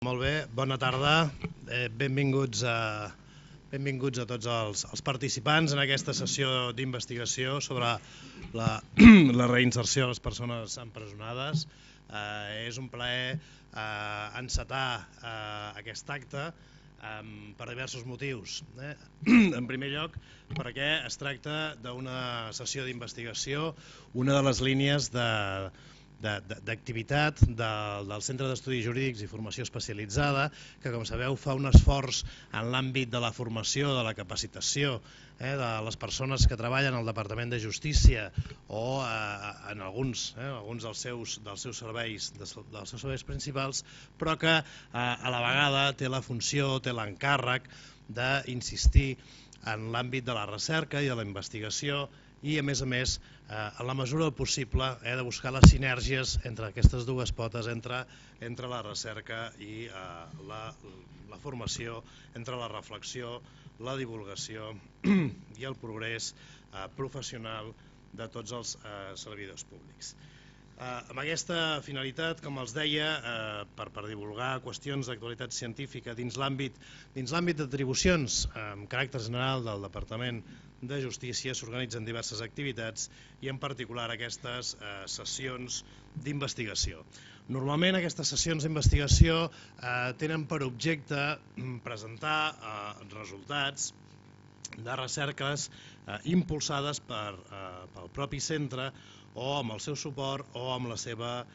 Molt bé, bona tarda. Benvinguts a tots els participants en aquesta sessió d'investigació sobre la reinserció de les persones empresonades. És un plaer encetar aquest acte per diversos motius. En primer lloc, perquè es tracta d'una sessió d'investigació, una de les línies d'activitat del Centre d'Estudis Jurídics i Formació Especialitzada, que, com sabeu, fa un esforç en l'àmbit de la formació, de la capacitació de les persones que treballen al Departament de Justícia o en alguns dels seus serveis principals, però que a la vegada té la funció, té l'encàrrec d'insistir en l'àmbit de la recerca i de la investigació i, a més, en la mesura del possible, de buscar les sinergies entre aquestes dues potes, entre la recerca i la formació, entre la reflexió, la divulgació i el progrés professional de tots els servidors públics. Amb aquesta finalitat, com els deia, per divulgar qüestions d'actualitat científica dins l'àmbit d'atribucions amb caràcter general del Departament de Justícia, s'organitzen diverses activitats i en particular aquestes sessions d'investigació. Normalment aquestes sessions d'investigació tenen per objecte presentar resultats de recerques impulsades pel propi centre o amb el seu suport o amb la seva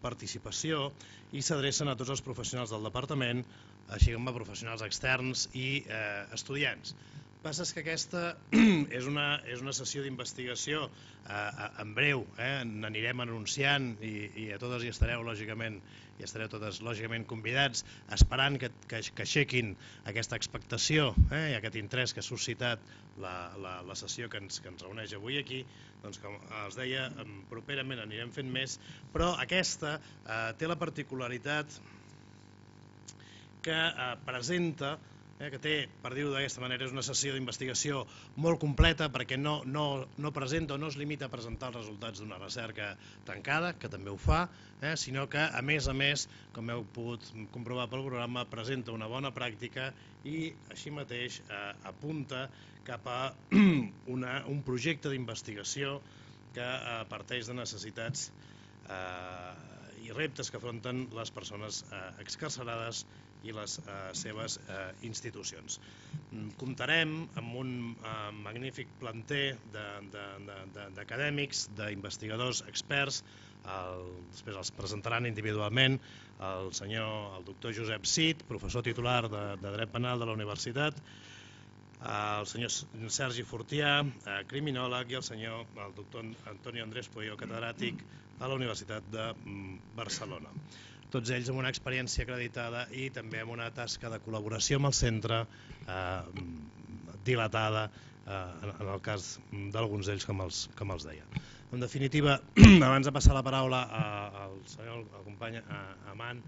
participació, i s'adrecen a tots els professionals del departament, així com a professionals externs i estudiants. El que passa és que aquesta és una sessió d'investigació en breu, n'anirem anunciant i a totes hi estareu totes lògicament convidats, esperant que aixequin aquesta expectació i aquest interès que ha suscitat la sessió que ens reuneix avui aquí. Doncs, com els deia, properament anirem fent més, però aquesta té la particularitat que presenta, que té, per dir-ho d'aquesta manera, és una sessió d'investigació molt completa perquè no presenta o no es limita a presentar els resultats d'una recerca tancada, que també ho fa, sinó que, a més, com heu pogut comprovar pel programa, presenta una bona pràctica i així mateix apunta cap a un projecte d'investigació que parteix de necessitats i reptes que afronten les persones excarcerades i les seves institucions. Comptarem amb un magnífic planter d'acadèmics, d'investigadors experts. Després els presentaran individualment el doctor Josep Cid, professor titular de Dret Penal de la Universitat, el senyor Sergi Fortià, criminòleg, i el doctor Antonio Andrés Pueyo, catedràtic a la Universitat de Barcelona. Tots ells amb una experiència acreditada i també amb una tasca de col·laboració amb el centre dilatada, en el cas d'alguns d'ells, com els deia. En definitiva, abans de passar la paraula al company Aman,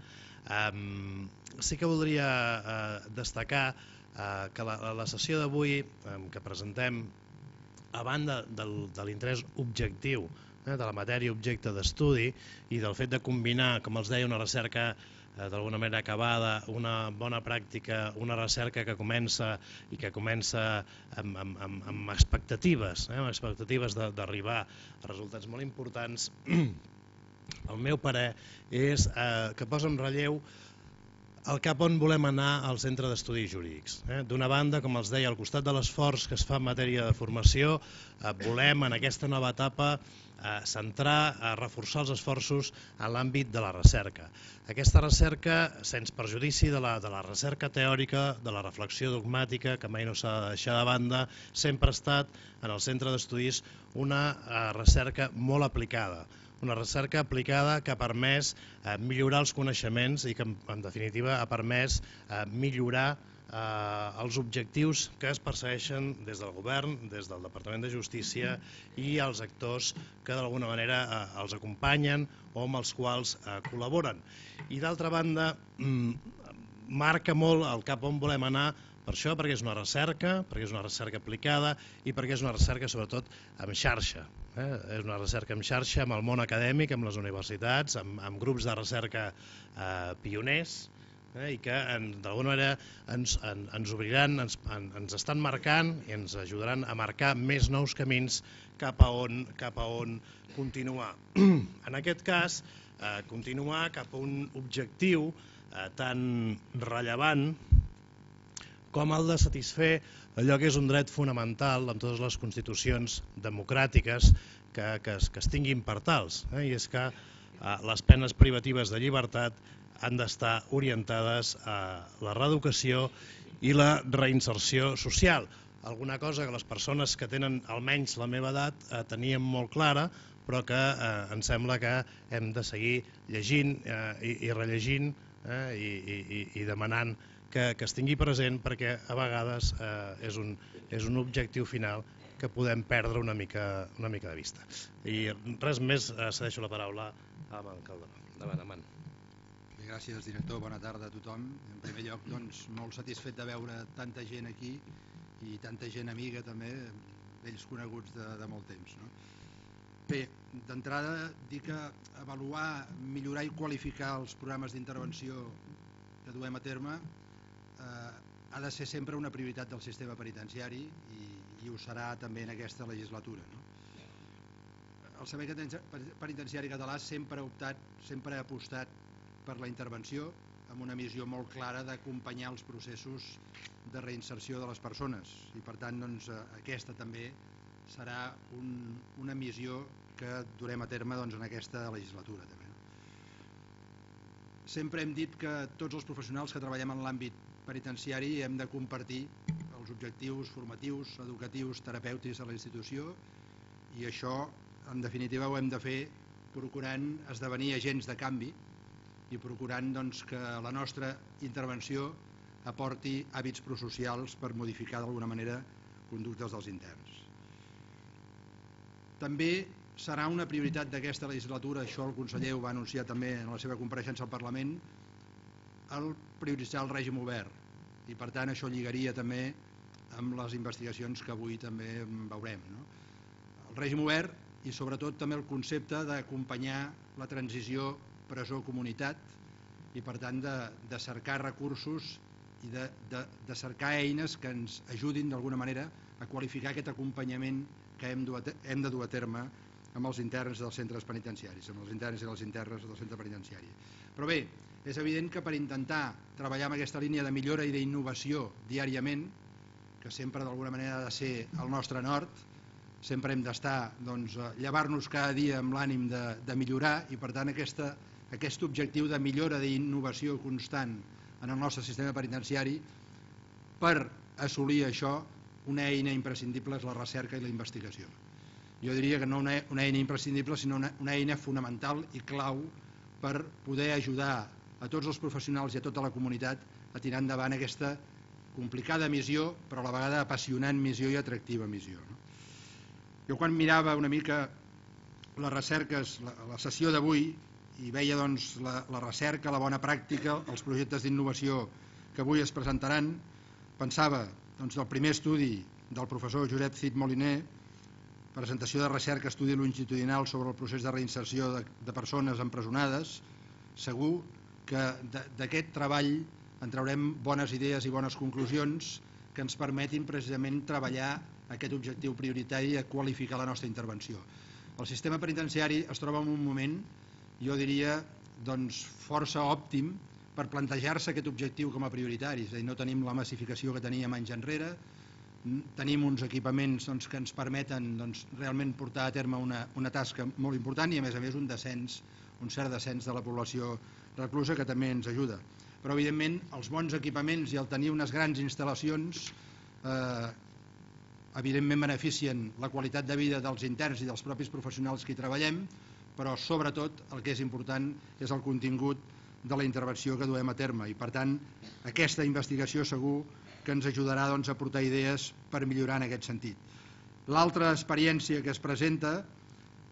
sí que voldria destacar que la sessió d'avui que presentem, a banda de l'interès objectiu de la matèria objecte d'estudi i del fet de combinar, com els deia, una recerca d'alguna manera acabada, una bona pràctica, una recerca que comença amb expectatives d'arribar a resultats molt importants, el meu parer és que posa en relleu el cap on volem anar al Centre d'Estudis Jurídics. D'una banda, com els deia, al costat de l'esforç que es fa en matèria de formació, volem en aquesta nova etapa centrar, reforçar els esforços en l'àmbit de la recerca. Aquesta recerca, sens perjudici de la recerca teòrica, de la reflexió dogmàtica, que mai no s'ha de deixar de banda, sempre ha estat en el Centre d'Estudis una recerca molt aplicada. Una recerca aplicada que ha permès millorar els coneixements i que, en definitiva, ha permès millorar els objectius que es persegueixen des del govern, des del Departament de Justícia i els actors que d'alguna manera els acompanyen o amb els quals col·laboren. I d'altra banda, marca molt el cap on volem anar Per això, perquè és una recerca aplicada i perquè és una recerca sobretot en xarxa. És una recerca en xarxa amb el món acadèmic, amb les universitats, amb grups de recerca pioners, i que d'alguna manera ens obriran, ens estan marcant i ens ajudaran a marcar més nous camins cap a on continuar. En aquest cas, continuar cap a un objectiu tan rellevant com el de satisfer allò que és un dret fonamental en totes les constitucions democràtiques que es tinguin per tals, i és que les penes privatives de llibertat han d'estar orientades a la reeducació i la reinserció social. Alguna cosa que les persones que tenen almenys la meva edat teníem molt clara, però que em sembla que hem de seguir llegint i rellegint i demanant que es tingui present, perquè a vegades és un objectiu final que podem perdre una mica de vista. I res més, cedeixo la paraula a en Calderó. Endavant. Gràcies, director. Bona tarda a tothom. En primer lloc, molt satisfet de veure tanta gent aquí i tanta gent amiga també, vells coneguts de molt temps. Bé, d'entrada dir que avaluar, millorar i qualificar els programes d'intervenció que duem a terme ha de ser sempre una prioritat del sistema penitenciari i ho serà també en aquesta legislatura. El Servei Penitenciari Català sempre ha apostat per la intervenció amb una missió molt clara d'acompanyar els processos de reinserció de les persones i per tant aquesta també serà una missió que durem a terme en aquesta legislatura. Sempre hem dit que tots els professionals que treballem en l'àmbit penitenciari hem de compartir els objectius formatius, educatius, terapèutics de la institució i això en definitiva ho hem de fer procurant esdevenir agents de canvi i procurant que la nostra intervenció aporti hàbits prosocials per modificar d'alguna manera conductes dels interns. També serà una prioritat d'aquesta legislatura, això el conseller ho va anunciar també en la seva compareixença al Parlament, el prioritzar el règim obert i per tant això lligaria també amb les investigacions que avui també veurem. El règim obert i sobretot també el concepte d'acompanyar la transició presó-comunitat i per tant de cercar recursos i de cercar eines que ens ajudin d'alguna manera a qualificar aquest acompanyament que hem de dur a terme amb els interns dels centres penitenciaris, amb els interns i les internes del centre penitenciari. Però bé, és evident que per intentar treballar amb aquesta línia de millora i d'innovació diàriament, que sempre d'alguna manera ha de ser el nostre nord, sempre hem d'estar, llevar-nos cada dia amb l'ànim de millorar i per tant aquest objectiu de millora d'innovació constant en el nostre sistema penitenciari, per assolir això, una eina imprescindible és la recerca i la investigació. Jo diria que no una eina imprescindible, sinó una eina fonamental i clau per poder ajudar a tots els professionals i a tota la comunitat a tirar endavant aquesta complicada missió, però a la vegada apassionant missió i atractiva missió. Jo quan mirava una mica les recerques, la sessió d'avui, i veia la recerca, la bona pràctica, els projectes d'innovació que avui es presentaran, pensava del primer estudi del professor Josep Cid Moliner, presentació de recerca, estudi longitudinal sobre el procés de reinserció de persones empresonades, segur que d'aquest treball en traurem bones idees i bones conclusions que ens permetin precisament treballar aquest objectiu prioritari de qualificar la nostra intervenció. El sistema penitenciari es troba en un moment, jo diria, força òptim per plantejar-se aquest objectiu com a prioritari. És a dir, no tenim la massificació que teníem anys enrere, tenim uns equipaments que ens permeten realment portar a terme una tasca molt important i a més un cert descens de la població reclusa que també ens ajuda. Però evidentment els bons equipaments i el tenir unes grans instal·lacions evidentment beneficien la qualitat de vida dels interns i dels propis professionals que hi treballem, però sobretot el que és important és el contingut de la intervenció que duem a terme i per tant aquesta investigació segur que ens ajudarà a aportar idees per millorar en aquest sentit. L'altra experiència que es presenta,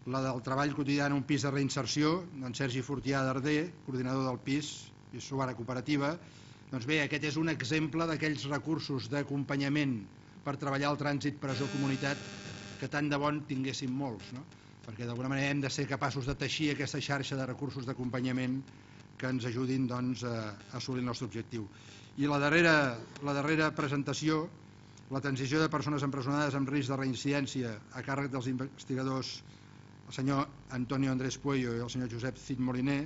la del treball quotidià en un pis de reinserció, d'en Sergi Fortià d'Arder, coordinador del pis i Suara Cooperativa, Doncs bé, aquest és un exemple d'aquells recursos d'acompanyament per treballar el trànsit presó-comunitat que tant de bon tinguéssim molts, no? Perquè d'alguna manera hem de ser capaços de teixir aquesta xarxa de recursos d'acompanyament que ens ajudin doncs, a assolir el nostre objectiu. I la darrera presentació, la transició de persones empresonades amb risc de reincidència a càrrec dels investigadors el senyor Antonio Andrés Pueyo i el senyor Josep Cid Moliner,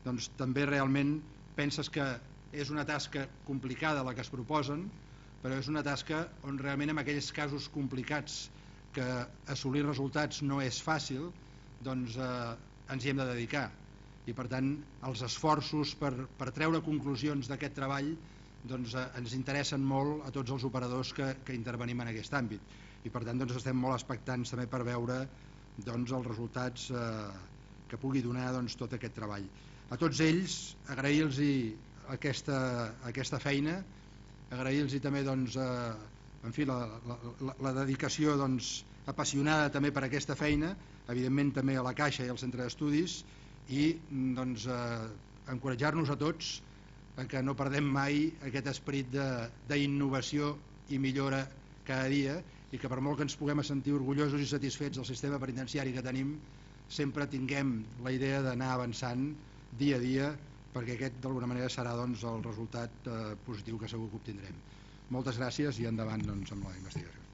doncs també realment penses que és una tasca complicada la que es proposen, però és una tasca on realment en aquells casos complicats que assolir resultats no és fàcil, doncs ens hi hem de dedicar. I per tant els esforços per treure conclusions d'aquest treball doncs, ens interessen molt a tots els operadors que intervenim en aquest àmbit. I per tant doncs, estem molt expectants també per veure doncs, els resultats que pugui donar doncs, tot aquest treball. A tots ells agrair-los aquesta feina, agrair-los també doncs, en fi, la dedicació doncs, apassionada també per aquesta feina, evidentment també a la Caixa i al Centre d'Estudis, i doncs, encoratjar-nos a tots que no perdem mai aquest esperit d'innovació i millora cada dia, i que per molt que ens puguem sentir orgullosos i satisfets del sistema penitenciari que tenim, sempre tinguem la idea d'anar avançant dia a dia, perquè aquest d'alguna manera serà doncs, el resultat positiu que segur que obtindrem. Moltes gràcies i endavant doncs, amb la investigació.